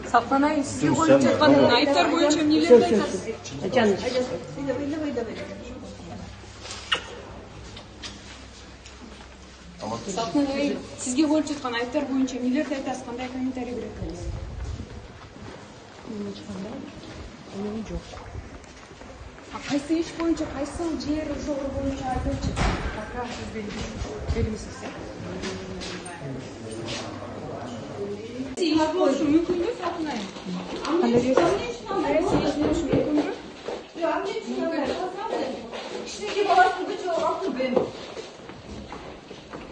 Сапкан ай, сизге коюп жаткан айыптар боюнча эмнелерди айтасыз? Сапкан ай, сизге коюп жаткан айыптар боюнча эмнелерди айтасыз? Кандай комментарий бересиз? Эмне жок. Кайсы иш боюнча, кайсы жер ошол боюнча айтылчу? Пока сиз белгисиз. Сиз болушу мүмкүнбү Сапкан ай?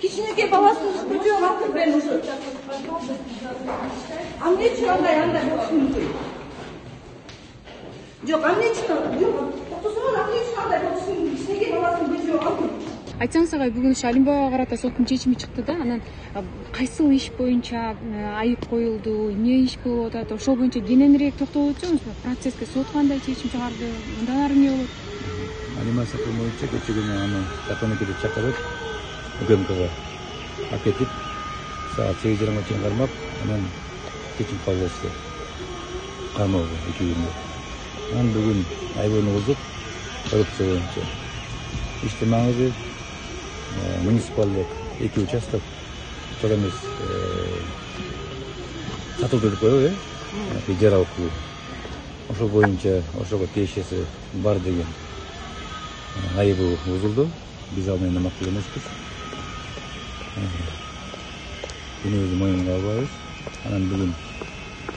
Кичинекей баласын күчөп атып мен ушу. Эмне үчүн андай болушу мүмкүн? Жок, эмне үчүн? Жок, токтосоңуз эмне үчүн андай болушу мүмкүн? Кичинекей баласын күчөп атып. Айтсаңыз ага, бүгүн ушу Алимбаевага карата соттун чечими чыкты да, анан кайсыл иш боюнча айып коюлду, эмне иш болуп атат, ошол боюнча кененирээк токтолуп өтсөңүз, процесске сот кандай чечим чыгарды, мындан ары эмне болот? Алима Сапуновича кечээ күнү аны Катонукеде чакырып, УКМКга акетип, саат 8:30 чейин кармап, анан чечим кабыл этти. Камоого 2 күндө. Анан бүгүн айыбын бузуп, коррупция боюнча иштин маңызы муниципалдык 2 участок чок эмес сатылды деп коебу, ижара укугу. Ошол боюнча ошого тиешеси бар деген айыбы бузулду. Биз ал менен макул эмеспиз. Күнүбүздү моюнга албайбыз. Анан бүгүн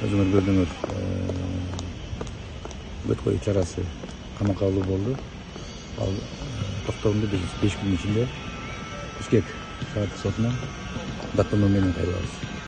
өзүңөр көрдүңөр, бөт коюу чарасы камакка алуу болду. Ал токтомду биз 5 күн ичинде Бишкек шаардык сотуна даттануу менен кайрылабыз.